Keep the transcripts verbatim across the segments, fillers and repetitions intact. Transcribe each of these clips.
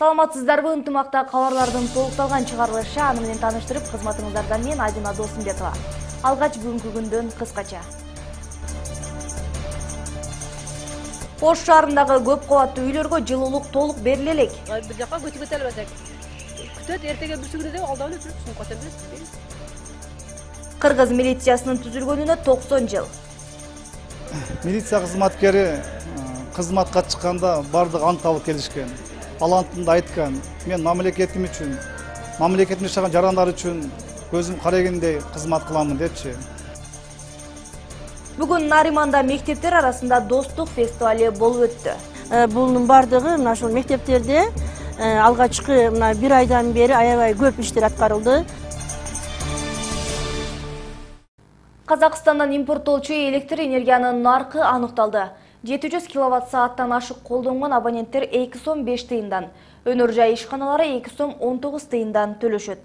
Саламатсыздарбы, ынтымакта кабарлардын толукталган чыгарылышы аны менен тааныштырып, кызматыңыздардан мен Айдина Досумбекова. Алгач бүгүнкү күндөн кыскача. Ош шаарындагы көп кабаттуу үйлөргө жылуулук толук бериле элек. Бир жака көчүп кете албасак, күтөт эртеге бүрсүгүнө деп алдап эле жүрүп түсүнүп кете берет. Кыргыз милициясынын түзүлгөнүнө токсон жыл. Милиция кызматкери кызматка чыкканда бардык ант алып келишкен. Ал антында айткан: мен мамлекетим үчүн, мамлекеттин жашаган жарандар үчүн көзүм карагендей кызмат кыламын депчи. Бүгүн Нариманда мектептер арасында достук фестивали болуп өттү. Бунун бардыгы мына ушул мектептерде алгачкы мына бир айдан бери аябай көп иштер аткарылды. Казакстандан импорттолчу электр энергиянын наркы аныкталды. жети жүз киловатт сааттан ашык колдонгон абоненттер эки сом беш тыйындан, өнөр жай ишканалары эки сом он тогуз тыйындан төлөшөт.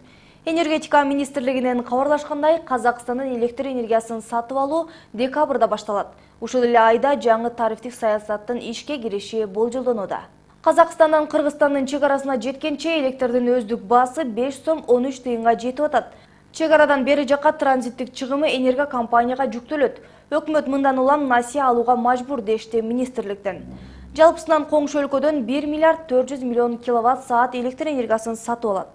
Энергетика министрлигинен кабарлашкандай, Казакстандын электр энергиясын сатып алуу декабрда башталат. Ушул эле айда жаңы тарифтик саясаттын ишке кириши болжолдонууда. Казакстандан Кыргызстандын чек арасына жеткенче электрдин өздүк баасы беш сом он үч тыйынга жетип атат. Чек арадан бери жакка транзиттик чыгымы энерго компанияга жүктөлөт. Өкмөт мындан улам насыя алууга мажбур дешти министрликтен. Жалпысынан коңшу өлкөдөн бир миллиард төрт жүз миллион киловатт саат электр энергиясын сатып алат.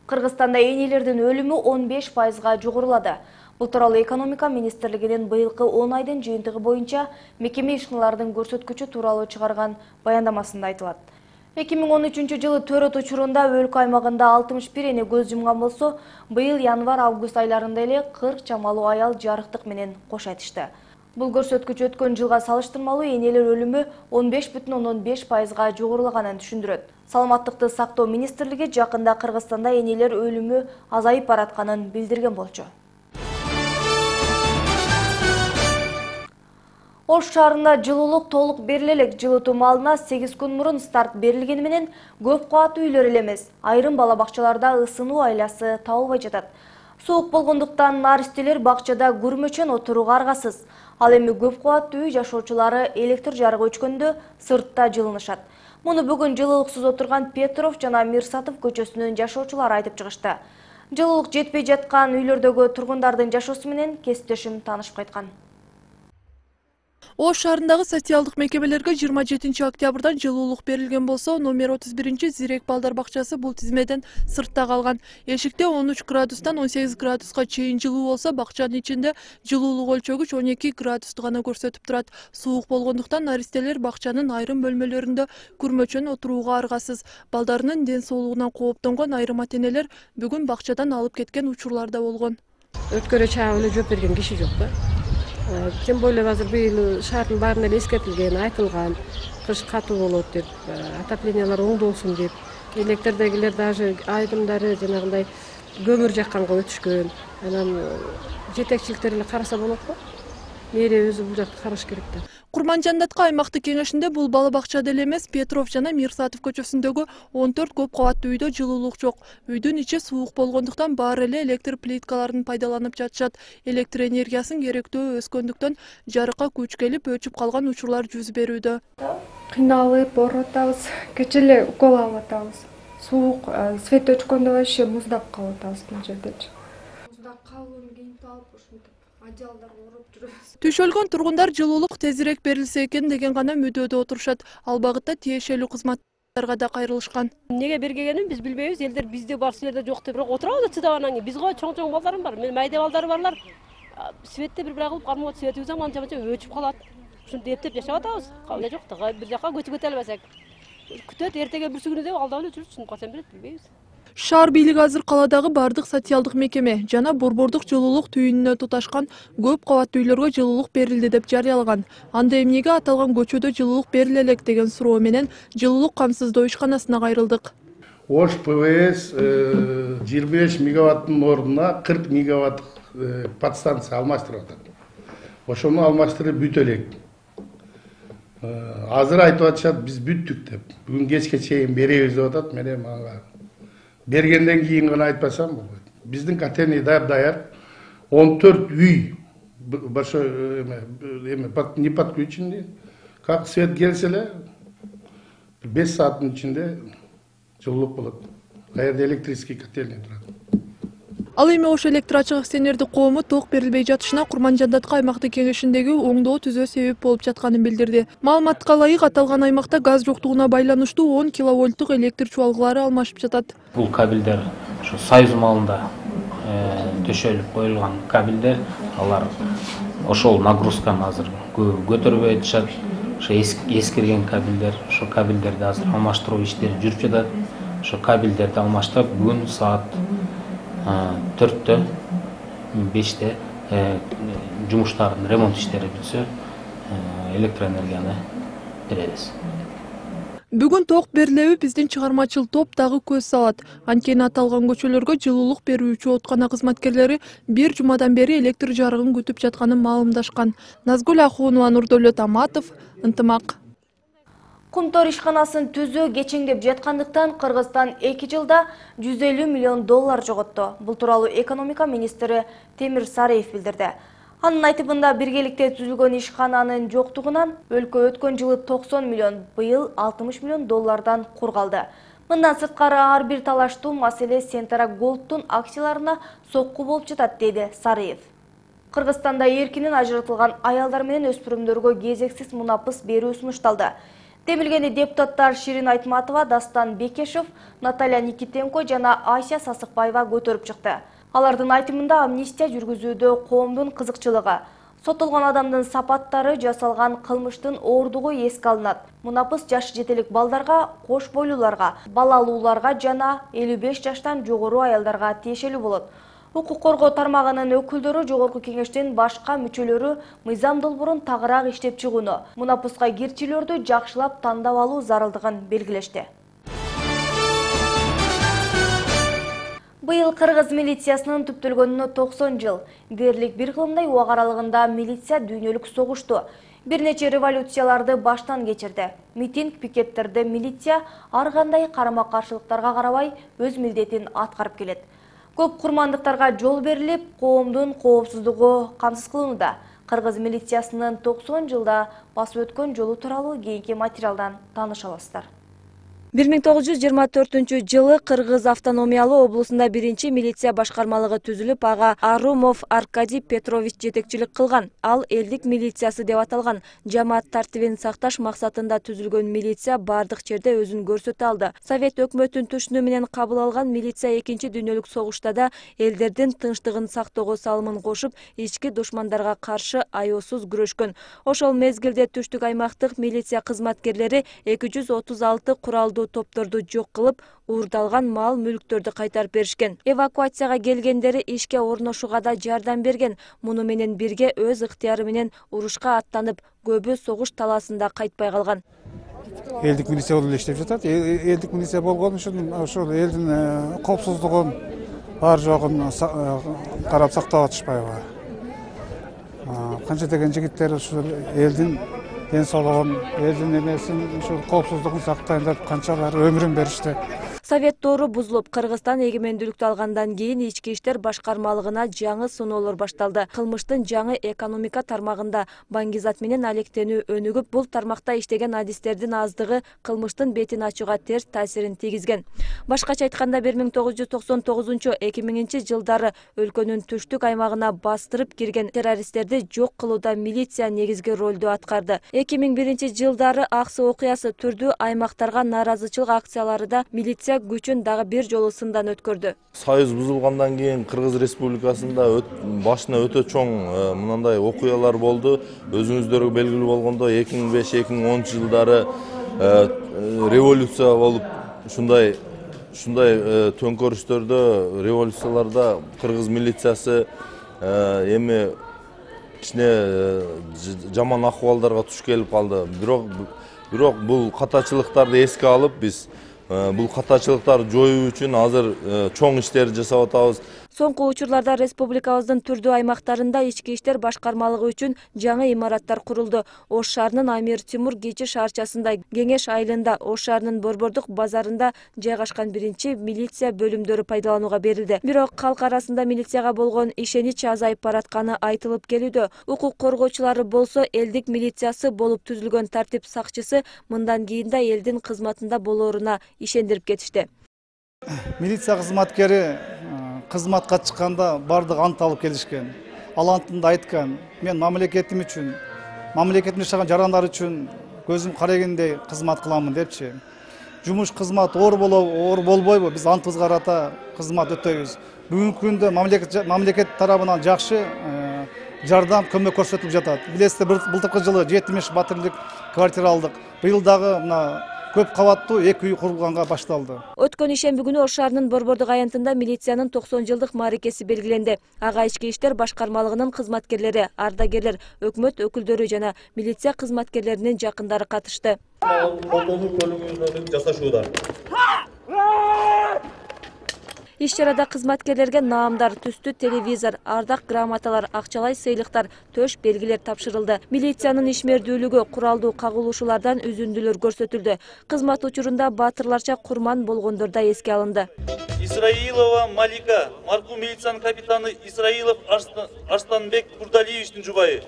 Кыргызстанда энелердин өлүмү он беш пайызга жогорулады. Бул тууралуу экономика министрлигинин быйылкы он айдын жыйынтыгы боюнча мекеме ишканалардын көрсөткүчү тууралуу чыгарган баяндамасында айтылат. эки миң он үчүнчү жылы төрөт учурунда өлкө аймагында алтымыш бир эне көз жумган болсо, быйыл январь-август айларында эле кырк чамалуу аял жарыктык менен кош айтышты. Бул көрсөткүч өткөн жылга салыштырмалуу энелер өлүмү он беш бүтүн ондон беш пайызга жогорулаганын түшүндүрөт. Саламаттыкты сактоо министрлиги жакында Кыргызстанда энелер өлүмү азайып баратканын билдирген болчу. Ош шаарында жылуулук толук бериле элек. Жылытуу маалына сегиз күн мурун старт берилгени менен көп кабаттуу үйлөр эле эмес, айрым бала бакчаларда ысынуу айласы табылбай жатат. Суук болгондуктан наристелер бакчада күрмөчөн отурууга аргасыз. Ал эми көп кабаттуу үй жашоочулары электр жарыгы өчкөндө сыртта жылынышат. Муну бүгүн жылуулуксуз отурган Петров жана Мирсатов көчөсүнүн жашоочулары айтып чыгышты. Жылуулук жетпей жаткан үйлөрдөгү тургундардын жашоосу менен кесиптешим таанышып кайткан. Ош шаарындагы социалдык мекемелерге жыйырма жетинчи октябрдан жылуулук берилген болсо, номер отуз биринчи Зирек балдар бакчасы бул тизмеден сыртта калган. Эшикте он үч градустан он сегиз градуска чейин жылуу болсо, бакчанын ичинде жылуулук өлчөгүч он эки градусту гана көрсөтүп турат. Суук болгондуктан наристелер бакчанын айрым бөлмөлөрүндө күрмөчөн отурууга аргасыз. Балдарынын ден соолугунан кооптонгон айрым ата-энелер бүгүн бакчадан алып кеткен учурлар да болгон. Өткөрө чаап эле жооп берген киши жок да. Тем более азыр быйыл шаардын баарына эле эскертилген, айтылган, кыш катуу болот деп, отоплениялар оңдолсун деп. Электрдегилер даже айдымдары жанагындай көмүр жакканга өтүшкөн. Анан жетекчиликтер эле караса болот го. Мэрия өзү бул жакты караш керек да. Курманжандатка аймактык кеңешинде бул бала бакчада эле эмес, Петров жана Мирсатов көчөсүндөгү он төрт көп кабаттуу үйдө жылуулук жок. Үйдүн ичи суук болгондуктан баары эле электр плиткаларын пайдаланып жатышат. Электр энергиясын керектөө өскөндүктөн жарыкка күч келип өчүп калган учурлар жүз берүүдө. Кыйналып, оорутабыз, кече эле укол алып атабыз. Суук, свет өчкөндө вообще муздап калып атабыз бул жердечи. Муздап калып, кийип алып ушинтип ажалдар уруп жүрөбүз. Түшөлгөн тургундар жылуулук тезирээк берилсе экен деген гана мүдөөдө отурушат. Ал багытта тиешелүү кызматтарга да кайрылышкан. Неге бергенин биз билбейбиз. Элдер бизде бар, силерде жок деп бирок отурабыз чыдап анан кийин. Биз го чоң-чоң балдарым бар. Мен майда балдары барлар. Светте бир бирак кылып кармоо свет үзөм анча-манча өчүп калат. Ушинтип эптеп жашап атабыз. Кале жок да, бир жака көчүп кете албасак. Күтөт эртеге бүрсүгүнө деп алдап эле жүрүп түсүнүп калсам берет, билбейбиз. Шаар бийлиги азыр каладагы бардык социалдык мекеме жана борбордук жылуулук түйүнүнө туташкан көп кабаттуу үйлөргө жылуулук берилди деп жарыялаган. Анда эмнеге аталган көчөдө жылуулук бериле элек деген суроо менен жылуулук камсыздоо ишканасына кайрылдык. Ош ПВС жыйырма беш мегаваттын ордуна кырк мегаваттык подстанция алмаштырып атат. Ошону алмаштырып бүтө элек. Азыр айтып атышат, биз бүттүк деп. Бүгүн кечке чейин беребиз деп атат. Менен мага бергенден кийин гана айтпасам болбойт. Биздин котельный даяр он төрт үй большой эме не подключенный. Как свет келсе эле беш сааттын ичинде жылуулук болот. Каерде электрический котельный турат. Ал эми Ош электр ачык акционердик коому ток берилбей жатышына Курманжандатка аймактык кеңешиндеги оңдоо түзөө себеп болуп жатканын билдирди. Маалыматка ылайык, аталган аймакта газ жоктугуна байланыштуу он киловольттук электр чубалгылары алмашып жатат. Бул кабелдер ушу Союз маалында төшөлүп коюлган кабелдер, алар ошол нагрузканы азыр көтөрбөй атышат. Ошо эскирген кабелдер, ошо кабелдерди азыр алмаштыруу иштери жүрүп жатат. Ошо кабелдерди алмаштырып, бүгүн саат төрттө беште жумуштардын ремонт иштери бүтсө электроэнергияны беребиз. Бүгүн ток берилеби биздин чыгармачыл топ дагы көз салат. Анткени аталган көчөлөргө жылуулук берүүчү откана кызматкерлери бир жумадан бери электр жарыгын күтүп жатканын маалымдашкан. Назгүл Ахунова, Нурдөлөт Аматов, Ынтымак. Кумтор ишканасын түзүү кечеңдеп жаткандыктан Кыргызстан эки жылда жүз элүү миллион доллар жоготту. Бул тууралуу экономика министри Темир Сариев билдирди. Анын айтымында биргеликте түзүлгөн ишкананын жоктугунан өлкө өткөн жылы токсон миллион, быйыл алтымыш миллион доллардан кур калды. Мындан сырткары ар бир талаштуу маселе Сентара Голдтун акцияларына сокку болуп жатат, деди Сариев. Кыргызстанда эркинен ажыратылган аялдар менен өспүрүмдөргө кезексиз мунапыс берүү сунушталды. Демилгени депутаттар Ширин Айтматова, Дастан Бекешев, Наталья Никитенко жана Айся Сасыкбаева көтөрүп чыкты. Алардын айтымында амнистия жүргүзүүдө коомдун кызыкчылыгы, соттолгон адамдын сапаттары, жасалган кылмыштын оордугу эске алынат. Мунапыс жаш жетелик балдарга, кош бойлууларга, балалууларга жана элүү беш жаштан жогору аялдарга тиешелүү болот. Укук коргоо тармагынын өкүлдөрү Жогорку кеңештин башка мүчөлөрү мыйзам долбоорун тагыраак иштеп чыгууну, мунапыска кирчилердү жакшылап тандап алуу зарылдыгын белгилешти. Быйыл Кыргыз милициясынын түптөлгөнүнө токсон жыл. Дээрлик бир кылымдай убак аралыгында милиция дүйнөлүк согушту. Бир нече революцияларды баштан кечирди. Митинг, пикеттерде милиция ар кандай карама-каршылыктарга карабай өз милдетин аткарып келет. Көп курмандыктарга жол берилип, коомдун коопсуздугу камсыз кылынууда. Кыргыз милициясынын токсон жылда басып өткөн жолу тууралуу кийинки материалдан тааныша аласыздар. бир миң тогуз жүз жыйырма төртүнчү жылы Кыргыз автономиялуу облусунда биринчи милиция башкармалыгы түзүлүп, ага Арумов Аркадий Петрович жетекчилик кылган. Ал элдик милициясы деп аталган. Жамаат тартибин сакташ максатында түзүлгөн милиция бардык жерде өзүн көрсөтө алды. Совет өкмөтүнүн түшүнүү менен кабыл алган милиция экинчи дүйнөлүк согушта да элдердин тынчтыгын сактоого салымын кошуп, ички душмандарга каршы аяосуз күрөшкөн. Ошол мезгилде түштүк аймактык милиция кызматкерлери эки жүз отуз алты куралдуу топторду жок кылып, уурдалган мал мүлктөрдү кайтарып беришкен. Эвакуацияга келгендери ишке орношууга да жардам берген. Муну менен бирге өз ыктыяры менен урушка аттанып, көбү согуш талаасында кайтпай калган. Элдик милиция болуп иштеп жатат. Элдик милиция болгон үчүн ошол элдин коопсуздугун бар жогун карап сактап атышпайбы. Канча деген жигиттер ушул элдин ден соолугун, элдин эмесин, ушул коопсуздугун сактайын деп канчалар өмүрүн беришти. Совет доору бузулуп, Кыргызстан эгемендүүлүктү алгандан кийин ички иштер башкармалыгына жаңы сыноолор башталды. Кылмыштын жаңы экономика тармагында баңгизат менен алектенүү өнүгүп, бул тармакта иштеген адистердин аздыгы кылмыштын бетин ачууга терс таасирин тийгизген. Башкача айтканда бир миң тогуз жүз токсон тогузунчу — эки миңинчи жылдары өлкөнүн түштүк аймагына бастырып кирген террористтерди жок кылууда милиция негизги ролду аткарды. эки миң биринчи жылдары Аксы окуясы түрдүү аймактарга нааразычылык акциялары да милиция күчүн дагы бир жолу сындан өткөрдү. Союз бузулгандан кийин Кыргыз Республикасында башына өтө чоң мындай окуялар болду. Өзүңүздөргө белгилүү болгондо эки миң беш — эки миң онунчу жылдары революция болуп, ушундай ушундай төңкөрүштөрдө, революцияларда Кыргыз милициясы эми кичине жаман акыбалдарга туш келип калды. Бирок бирок бул катачылыктарды эске алып, биз бул катачылыктарды жоюу үчүн азыр чоң иштерди жасап атабыз. Соңку учурларда республикабыздын түрдүү аймактарында ички иштер башкармалыгы үчүн жаңы имараттар курулду. Ош шаарынын Амир Тимур Кечи шаарчасында, Кеңеш айылында, Ош шаарынын Борбордук базарында жайгашкан биринчи милиция бөлүмдөрү пайдаланууга берилди. Бирок калк арасында милицияга болгон ишенич азайып баратканы айтылып келүүдө. Укук коргоочулары болсо элдик милициясы болуп түзүлгөн тартип сакчысы мындан кийин да элдин кызматында болоруна ишендирип кетишти. Милиция кызматкери кызматка чыкканда бардыгы ант алып келишкен. Ал антында айткан: мен мамлекетим үчүн, мамлекетимде жашаган жарандар үчүн көзүм карагендей кызмат кыламын депчи. Жумуш кызмат оор болобу, оор болбойбу, биз антыбызга карата кызмат өтөйбүз. Бүгүнкү күндө мамлекет мамлекет тарабынан жакшы жардам, көмөк көрсөтүлүп жатат. Билесиздер, былтыркы жылы жетимиш батирлик квартира алдык. Быйыл дагы мына көп кабаттуу эки үй курулганга башталды. Өткөн ишемби күнү Ош шаарынын Борбордук аянтында милициянын токсон жылдык мааракеси белгиленди. Ага ички иштер башкармалыгынын кызматкерлери, ардагерлер, өкмөт өкүлдөрү жана милиция кызматкерлеринин жакындары катышты. Иш-чарада кызматкерлерге наамдар, түстүү телевизор, ардак грамоталар, акчалай сыйлыктар, төш белгилер тапшырылды. Милициянын ишмердүүлүгү, куралдуу кагылышуулардан үзүндүлөр көрсөтүлдү. Кызмат учурунда баатырларча курман болгондор да эске алынды. Исраилова Малика, маркум милициянын капитаны Исраилов Арстанбек Курдалиевичтин жубайы.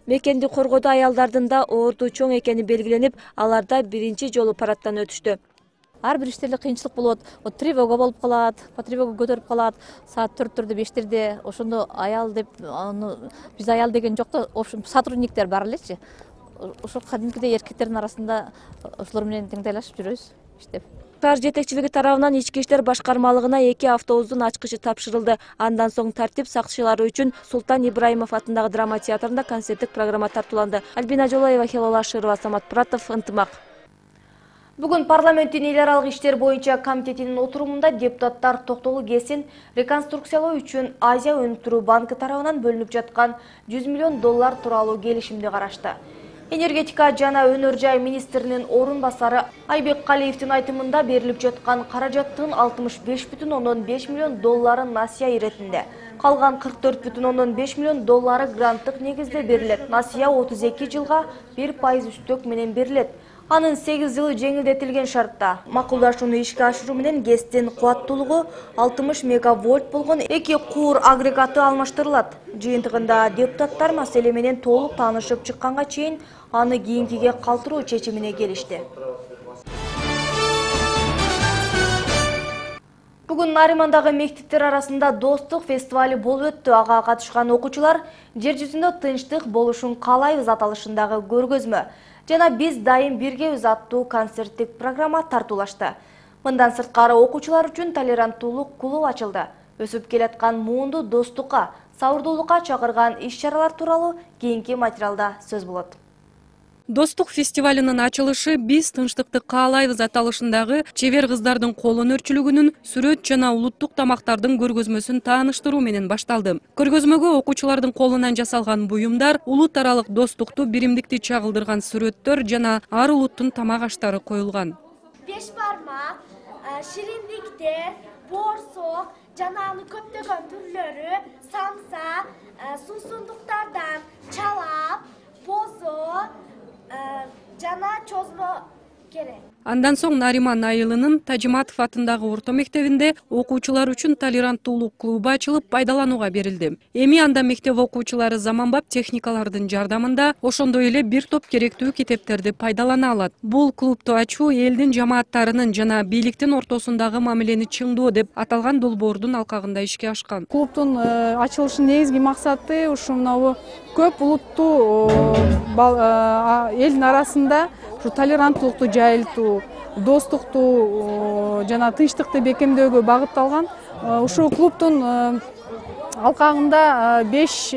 Мекенди коргоодо аялдардын да оорду чоң экени белгиленип, аларда биринчи жолу парадтан өтүштү. Ар бир иштерде кыйынчылык болот. Вот тревога болуп калат, по тревога көтөрүп калат. Саат төрттөрдө, бештерде ошондо аял деп, аны биз аял деген жок да, общем сотрудниктер бар элечи. Ошо кадимкидей эркектердин арасында ошолор менен теңдейлашып жүрөбүз иштеп. Шаар жетекчилиги тарабынан ички иштер башкармалыгына эки автобустун ачкычы тапшырылды. Андан соң тартип сакчылары үчүн Султан Ибраимов атындагы драма театрында концерттик программа тартууланды. Альбина Жолоева, Хелола Шырова, Самат Пратов, Ынтымак. Бүгүн парламенттин эл аралык иштер боюнча комитетинин отурумунда депутаттар токтолуу кесин реконструкциялоо үчүн Азия өнүктүрүү банкы тарабынан бөлүнүп жаткан жүз миллион доллар тууралуу келишимди карашты. Энергетика жана өнөр жай министринин орун басары Айбек Калиевдин айтымында берилип жаткан каражаттын алтымыш беш бүтүн ондон беш миллион доллары насыя иретинде. Калган кырк төрт бүтүн ондон беш миллион доллары гранттык негизде берилет. Насыя отуз эки жылга бир пайыз үстөк менен берилет. Анын сегиз жылы жеңилдетилген шартта. Макулдашууну ишке ашыруу менен ГЭСтин кубаттуулугу алтымыш мегавольт болгон эки куур агрегаты алмаштырылат. Жыйынтыгында депутаттар маселе менен толук таанышып чыкканга чейин аны кийинкиге калтыруу чечимине келишти. Бүгүн Наримандагы мектептер арасында достук фестивали болуп өттү. Ага катышкан окуучулар жер жүзүндө тынчтык болушун каалайбыз аталышындагы көргөзмө жана биз дайым биргебиз аттуу концерттик программа тартуулашты. Мындан сырткары окуучулар үчүн толеранттуулук клубу ачылды. Өсүп келаткан муунду достукка, сабырдуулукка чакырган иш-чаралар тууралуу кийинки материалда сөз болот. Достук фестивалынын ачылышы «Биз тынчтыкты каалайбыз» аталышындагы чебер кыздардын кол өнөрчүлүгүнүн сүрөт жана улуттук тамактардын көргөзмөсүн тааныштыруу менен башталды. Көргөзмөгө окуучулардын колунан жасалган буюмдар, улут аралык достукту, биримдикти чагылдырган сүрөттөр жана ар улуттун тамак аштары коюлган. Беш бармак, шириндиктер, боорсок жана анын көптөгөн түрлөрү, самса, суусундуктардан чалап, бозо жана чозмо керек. Андан соң Нариман айылынын Тажиматов атындагы орто мектебинде окуучулар үчүн толеранттуулук клубу ачылып пайдаланууга берилди. Эми анда мектеп окуучулары заманбап техникалардын жардамында ошондой эле бир топ керектүү китептерди пайдалана алат. Бул клубду ачуу элдин жамааттарынын жана бийликтин ортосундагы мамилени чыңдоо деп аталган долбоордун алкагында ишке ашкан. Клубдун ачылышынын негизги максаты ушу мынабу көп улуттуу элдин арасында ушу толеранттуулукту жайылтуу, достукту жана тынчтыкты бекемдөөгө багытталган. Ушул клубдун алкагында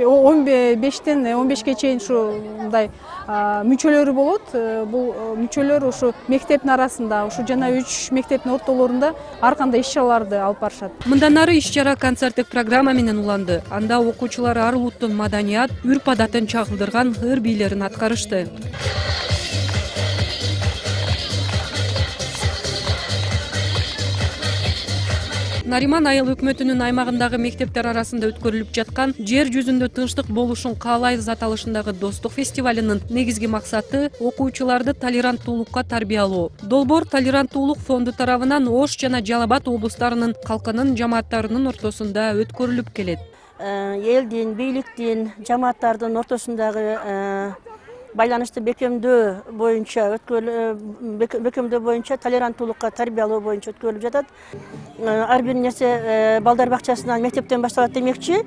он бештен он бешке чейин ушундай мүчөлөрү болот. Бул мүчөлөр ушу мектептин арасында, ушу жана үч мектептин ортолорунда ар кандай иш-чараларды алып барышат. Мындан ары иш-чара концерттик программа менен уланды. Анда окуучулар ар улуттун маданият, үрп-адатын чагылдырган ыр бийлерин аткарышты. Нариман айыл өкмөтүнүн аймагындагы мектептер арасында өткөрүлүп жаткан жер жүзүндө тынчтык болушун каалайбыз аталышындагы достук фестивалынын негизги максаты окуучуларды толеранттуулукка тарбиялоо. Долбоор толеранттуулук фонду тарабынан Ош жана Жалал Абад облустарынын калкынын жамааттарынын ортосунда өткөрүлүп келет. Элдин, бийликтин, жамааттардын ортосундагы байланышты бекемдөө боюнча бекемдөө боюнча толеранттуулукка тарбиялоо боюнча өткөрүлүп жатат. Ар бир нерсе балдар бакчасынан, мектептен башталат демекчи.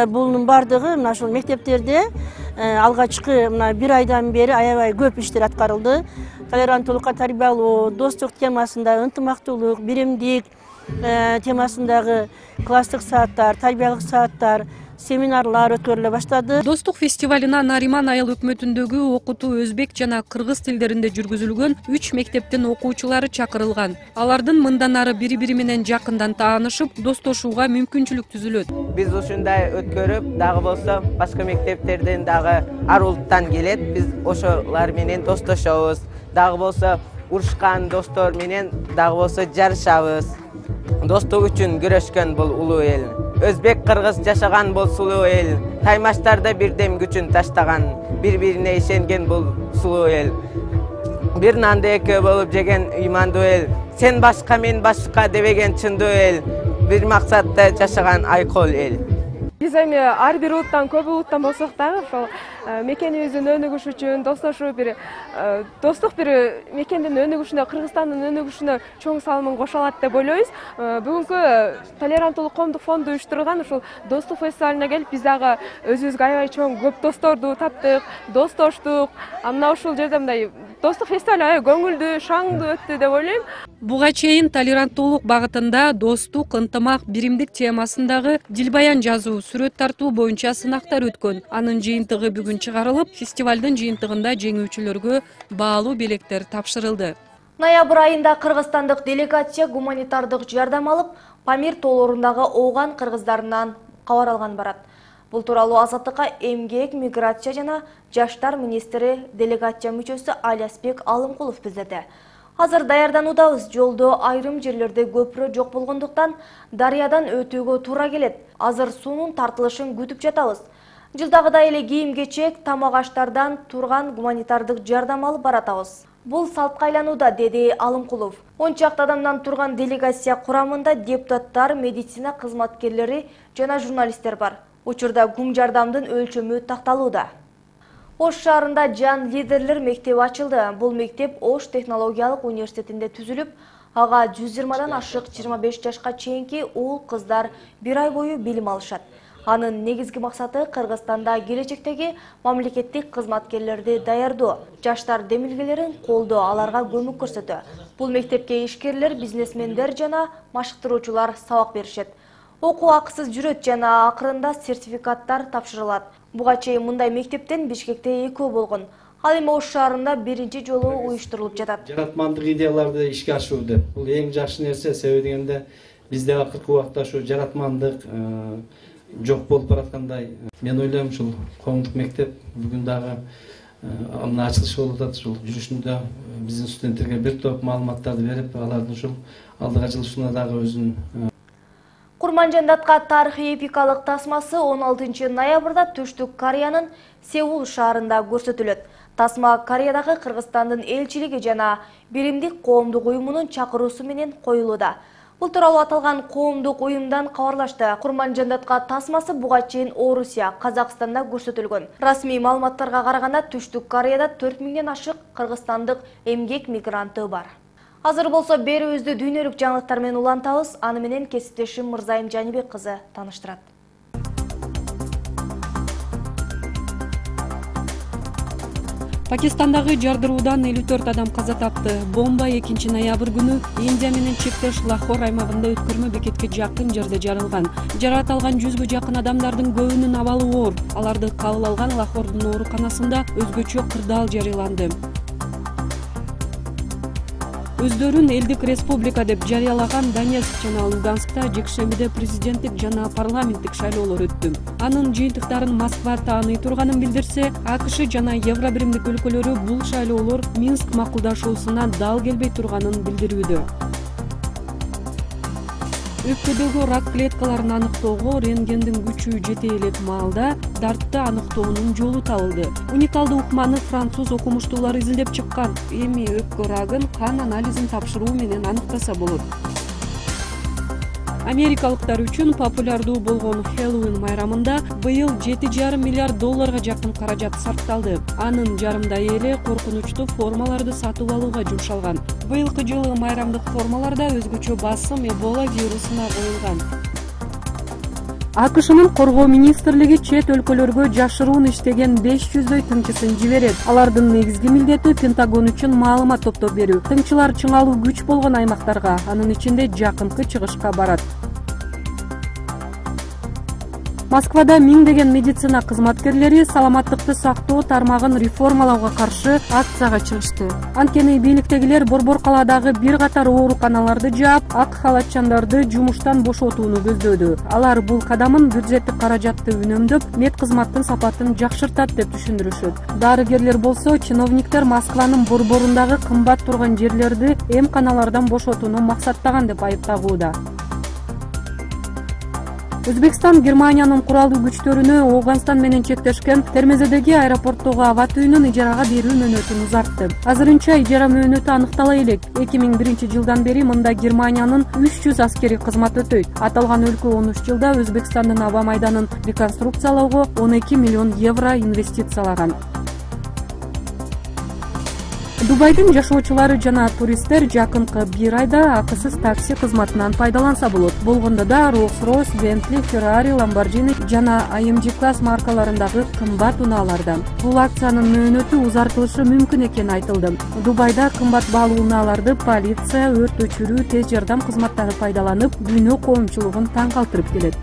Бунун бардыгы мына ушул мектептерде алгачкы мына бир айдан бери аябай көп иштер аткарылды. Толеранттуулукка тарбиялоо, достук темасында ынтымактуулук, биримдик темасындагы класстык сааттар, тарбиялык сааттар, семинарлар өткөрүлө баштады. Достук фестивалына Нариман айыл өкмөтүндөгү окутуу өзбек жана кыргыз тилдеринде жүргүзүлгөн үч мектептин окуучулары чакырылган. Алардын мындан ары бири-бири менен жакындан таанышып, достошууга мүмкүнчүлүк түзүлөт. Биз ушундай өткөрүп, дагы болсо башка мектептерден дагы ар улуттан келет. Биз ошолор менен достошобуз. Дагы болсо урушкан достор менен дагы болсо жарышабыз. Достук үчүн күрөшкөн бул улуу эл. Өзбек, кыргыз жашаган бул сулуу эл. Таймаштарда бирдем күчүн таштаган, бири-бирине ишенген бул сулуу эл. Бир нанды экөө болуп жеген ыймандуу эл. Сен башка, мен башка дебеген чындуу эл. Бир максатта жашаган айкол эл. Биз эми ар бир улуттан, көп улуттан болсок дагы ошол мекенибиздин өнүгүшү үчүн, достошуу бир достук бир мекендин өнүгүшүнө, Кыргызстандын өнүгүшүнө чоң салымын кошо алат деп ойлойбуз. Бүгүнкү толеранттуулук коомдук фонду уюштурган ушул достук фестивалына келип, биз дагы өзүбүзгө аябай чоң көп досторду таптык, достоштук. Мына ушул жерде мындай достук фестиваль аябай көңүлдүү, шаңдуу өттү деп ойлойм. Буга чейин толеранттуулук багытында достук, ынтымак, биримдик темасындагы дилбаян жазуу, сүрөт тартуу боюнча сынактар өткөн. Анын жыйынтыгы бүгүн чыгарылып, фестивалдын жыйынтыгында жеңүүчүлөргө баалуу белектер тапшырылды. Ноябрь айында кыргызстандык делегация гуманитардык жардам алып, Памир тоолорундагы ооган кыргыздарынан кабар алган барат. Бул тууралуу Азаттыкка эмгек, миграция жана жаштар министри делегация мүчөсү Алиасбек Алымкулов билдирди. Азыр даярдануудабыз, жолдо айрым жерлерде көпүрө жок болгондуктан дарыядан өтүүгө туура келет. Азыр суунун тартылышын күтүп жатабыз. Жылдагыдай эле кийим-кечек, тамак аштардан турган гуманитардык жардам алып баратабыз. Бул салтка айланууда, деди Алымкулов. он чакты адамдан турган делегация курамында депутаттар, медицина кызматкерлери жана журналисттер бар. Учурда гум жардамдын өлчөмү такталууда. Ош шаарында Жан лидерлер мектеби ачылды. Бул мектеп Ош технологиялык университетинде түзүлүп, ага жүз жыйырмадан ашык жыйырма беш жашка чейинки уул кыздар бир ай бою билим алышат. Анын негизги максаты Кыргызстанда келечектеги мамлекеттик кызматкерлерди даярдоо, жаштар демилгелерин колдоо, аларга көмөк көрсөтүү. Бул мектепке ишкерлер, бизнесмендер жана машыктыруучулар сабак беришет. Окуу акысыз жүрөт жана акырында сертификаттар тапшырылат. Буга чейин мындай мектептен Бишкекте экөө болгон. Ал эми Ош шаарында биринчи жолу уюштурулуп жатат. Жаратмандык идеяларды ишке ашыруу бул эң жакшы нерсе, себеби дегенде бизде акыркы убакта ушу жаратмандык жок болуп бараткандай. Мен ойлойм ушул коомдук мектеп бүгүн дагы мына ачылышы болуп атат. Ушул жүрүшүндө биздин студенттерге бир топ маалыматтарды берип, алардын ушул алдыга жылышына дагы өзүнүн Курманжандатка тарыхый эпикалык тасмасы он алтынчы ноябрда Түштүк Кореянын Сеул шаарында көрсөтүлөт. Тасма Кореядагы Кыргызстандын элчилиги жана Биримдик коомдук уюмунун чакыруусу менен коюлууда. Бул тууралуу аталган коомдук уюмдан кабарлашты. Курманжандатка тасмасы буга чейин Орусия, Казакстанда көрсөтүлгөн. Расмий маалыматтарга караганда Түштүк Кореяда төрт миңден ашык кыргызстандык эмгек мигранты бар. Азыр болсо берүүбүздү дүйнөлүк жаңылыктар менен улантабыз. Аны менен кесиптешим Мырзайым Жанибек кызы тааныштырат. Пакистандагы жардыруудан элүү төрт адам каза тапты. Бомба экинчи ноябрь күнү Индия менен чектеш Лахор аймагында өткөрмө бекетке жакын жерде жарылган. Жаракат алган жүзгө жакын адамдардын көбүнүн абалы оор. Аларды кабыл алган Лахордун ооруканасында өзгөчө кырдаал жарыяланды. Өздөрүн элдик республика деп жарыялаган Донецк жана Луганскта жекшембиде президенттик жана парламенттик шайлоолор өттү. Анын жыйынтыктарын Москва тааный турганын билдирсе, АКШ жана Евробиримдик өлкөлөрү бул шайлоолор Минск макулдашуусуна дал келбей турганын билдирүүдө. Өпкөдөгү рак клеткаларын аныктоого рентгендин күчү жете элек маалда дартты аныктоонун жолу табылды. Уникалдуу ыкманы француз окумуштуулары изилдеп чыккан. Эми өпкө рагын кан анализин тапшыруу менен аныктаса болот. Америкалыктар үчүн популярдуу болгон Хэллоуин майрамында быйыл жети жарым миллиард долларга жакын каражат сарпталды. Анын жарымдай эли коркунучтуу формаларды сатып алууга жумшалган. Быйылкы жылы майрамдык формаларда өзгөчө басым Эбола вирусуна коюлган. АКШнын коргоо министрлиги чет өлкөлөргө жашыруун иштеген беш жүздөй тыңчысын жиберет. Алардын негизги милдети Пентагон үчүн маалымат топтоп берүү. Тыңчылар чыңалуу күч болгон аймактарга, анын ичинде жакынкы чыгышка барат. Москвада миңдеген медицина кызматкерлери саламаттыкты сактоо тармагын реформалауга каршы акцияга чыгышты. Анткени бийликтегилер Борбор калаадагы бир катар ооруканаларды жаап, ак халатчандарды жумуштан бошотууну көздөөдү. Алар бул кадамын бюджеттик каражатты үнөмдөп, мед кызматтын сапатын жакшыртат деп түшүндүрүшөт. Дарыгерлер болсо, чиновниктер Москванын борборундагы кымбат турган жерлерди эмканалардан бошотууну максаттаган деп айыптагууда. Өзбекстан Германиянын куралдуу күчтөрүнө Ооганстан менен чектешкен Термезедеги аэропорттогу аба түйүнүн ижарага берүү мөөнөтүн узартты. Азырынча ижара мөөнөтү аныктала элек. эки миң биринчи жылдан бери мында Германиянын үч жүз аскери кызмат өтөйт. Аталган өлкө он үч жылда Өзбекстандын аба майданын реконструкциялоого он эки миллион евро инвестициялаган. Дубайдын жашоочулары жана туристтер жакынкы бир айда акысыз такси кызматынан пайдаланса болот. Болгондо да Rolls-Royce, Bentley, Ferrari, Lamborghini жана эй эм джи класс маркаларындагы кымбат унаалардан. Бул акциянын мөөнөтү узартылышы мүмкүн экени айтылды. Дубайда кымбат баалуу унааларды полиция, өрт өчүрүү, тез жардам кызматтары пайдаланып, дүйнө коомчулугун таң калтырып келет.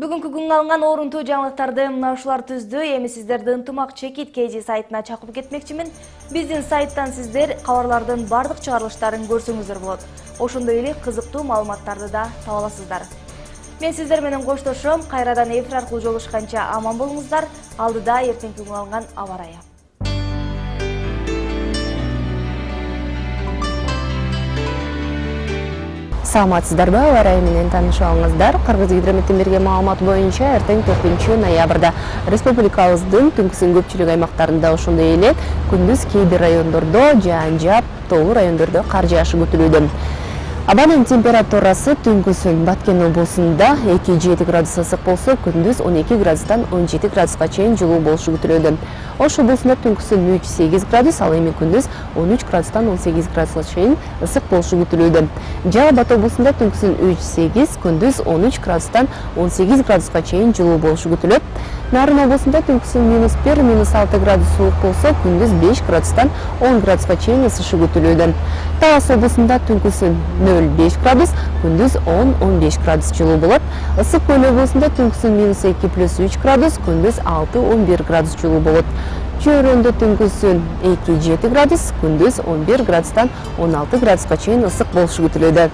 Бүгүнкү күнгө алынган орунтуу жаңылыктарды мына ушулар түздү. Эми сиздерди ынтымак чекит кей жи сайтына чакырып кетмекчимин. Биздин сайттан сиздер кабарлардын бардык чыгарылыштарын көрсөңүздөр болот. Ошондой эле кызыктуу маалыматтарды да таба аласыздар. Мен сиздер менен коштошом. Кайрадан эфир аркылуу жолугушканча аман болуңуздар. Алдыда эртеңки күнгө алынган аба ырайы. Саламатсыздарбы, аба ырайы менен таанышабыңыздар. Кыргызгидрометтен берген маалымат боюнча эртең төртүнчү ноябрда республикабыздын түнкүсүн көпчүлүк аймактарында ошондой эле күндүз кээ бир райондордо жаан жаап, тоолуу райондордо кар жаашы күтүлүүдө. Абанын температурасы түнкүсүн Баткен облусунда эки жети градус ысык болсо, күндүз он эки градустан он жети градуска чейин жылуу болушу күтүлүүдө. Ош облусунда түнкүсүн үч сегиз градус, ал эми күндүз он үч градустан он сегиз градуска чейин ысык болушу күтүлүүдө. Жалал Абад облусунда түнкүсүн үч сегиз, күндүз он үч градустан он сегиз градуска чейин жылуу болушу күтүлөт. Нарын облусунда түнкүсүн минус бир, минус алты градус суук болсо, күндүз беш градустан он градуска чейин ысышы күтүлүүдө. Талас облусунда түнкүсүн нөл беш градус, күндүз он он беш градус жылуу болот. Ысык Көл облусунда түнкүсүн минус эки плюс үч градус, күндүз алты он бир градус жылуу болот. Чөйрөндө түнкүсүн эки жети градус, күндүз он бир градустан он алты градуска чейин ысык болушу күтүлүүдө.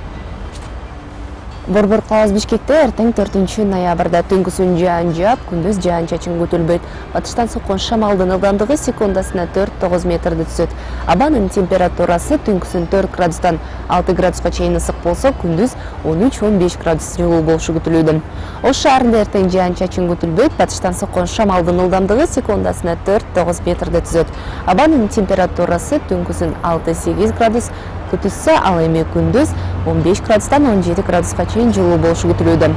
Борбор калаасы Бишкекте эртең төртүнчү ноябрда түнкүсүн жаан жаап, күндүз жаан-чачын күтүлбөйт. Батыштан соккон шамалдын ылдамдыгы секундасына төрт тогуз метрди түзөт. Абанын температурасы түнкүсүн төрт градустан алты градуска чейин ысык болсо, күндүз он үч он беш градус жылуу болушу күтүлүүдө. Ош шаарында эртең жаан-чачын күтүлбөйт. Батыштан соккон шамалдын ылдамдыгы секундасына төрт тогуз метрди түзөт. Абанын температурасы түнкүсүн алты сегиз градус күтүлсө, ал эми күндүз он беш градустан он жети градуска чейин жылуу болушу күтүлүүдө.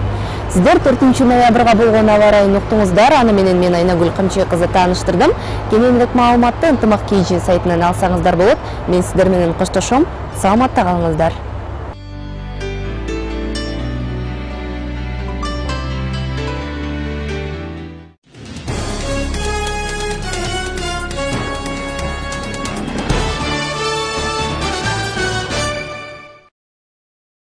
Сиздер төртүнчү ноябрга болгон аба ырайын уктуңуздар. Аны менен мен Айнагүл Камчы кызы тааныштырдым. Кененирээк маалыматты ынтымак кей жи сайтынан алсаңыздар болот. Мен сиздер менен коштошом. Саламатта калыңыздар.